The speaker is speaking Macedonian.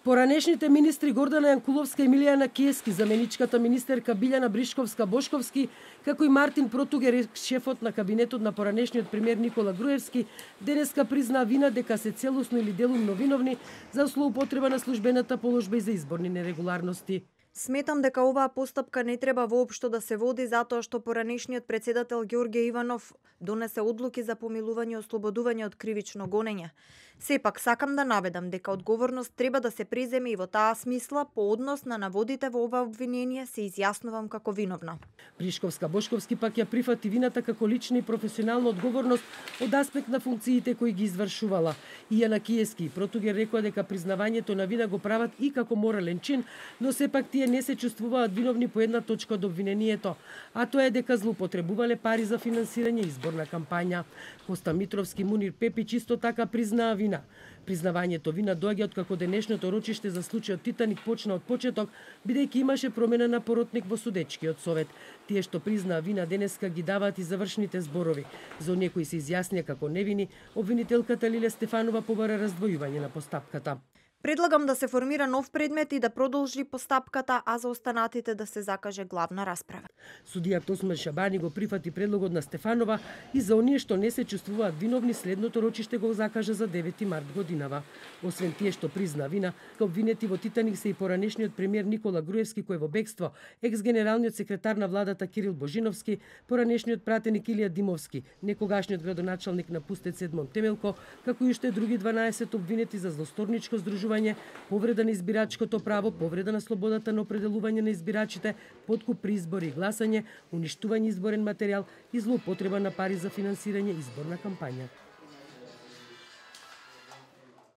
Поранешните министри Гордана Јанкуловска и Милијана Кески, заменичката министерка Билјана Бришковска-Бошковски, како и Мартин Протугер, шефот на кабинетот на поранешниот премиер Никола Груевски, денеска признаа вина дека се целосно или делумно виновни за злоупотреба на службената положба и за изборни нерегуларности. Сметам дека оваа постапка не треба воопшто да се води затоа што поранешниот председател Ѓорѓе Иванов донесе одлуки за помилување и ослободување од кривично гонење. Сепак сакам да наведам дека одговорност треба да се преземе и во таа смисла по однос на наводите во ова обвинение се изјаснувам како виновна. Бришковска-Бошковски пак ја прифати вината како лична и професионална одговорност од аспект на функциите кои ги извршувала. Ијана Киески и Протугер рекоа дека признавањето на вина го прават и како морален чин, но сепак тие не се чувствуваат виновни по една точка од обвинението, а тоа е дека злоупотребувале пари за финансирање изборна кампања. Коста Митровски, Мунир Пепич исто така признаа вина. Признавањето вина доаѓа откако денешното рочиште за случајот Титаник почна од почеток, бидејќи имаше промена на поротник во судечкиот совет. Тие што признаа вина денеска ги даваат и завршните зборови. За оние кои се изјаснија како невини, обвинителката Лиле Стефанова побара раздвојување на постапката. Предлагам да се формира нов предмет и да продолжи постапката, а за останатите да се закаже главна расправа. Судијата Осман Шабани го прифати предлогот на Стефанова и за оние што не се чувствуваат виновни, следното рочиште го закажа за 9 март годинава. Освен тие што призна вина, обвинети во Титаник се и поранешниот премиер Никола Груевски кој е во бегство, екс-генералниот секретар на владата Кирил Божиновски, поранешниот пратеник Илија Димовски, некогашниот градоначалник на Пустец Едмон Темелко, како и уште други 12 обвинети за злосторничко здружување, повреда на избирачкото право, повреда на слободата на определување на избирачите, подкуп при избори и гласање, уништување изборен материјал и злоупотреба на пари за финансирање изборна кампања.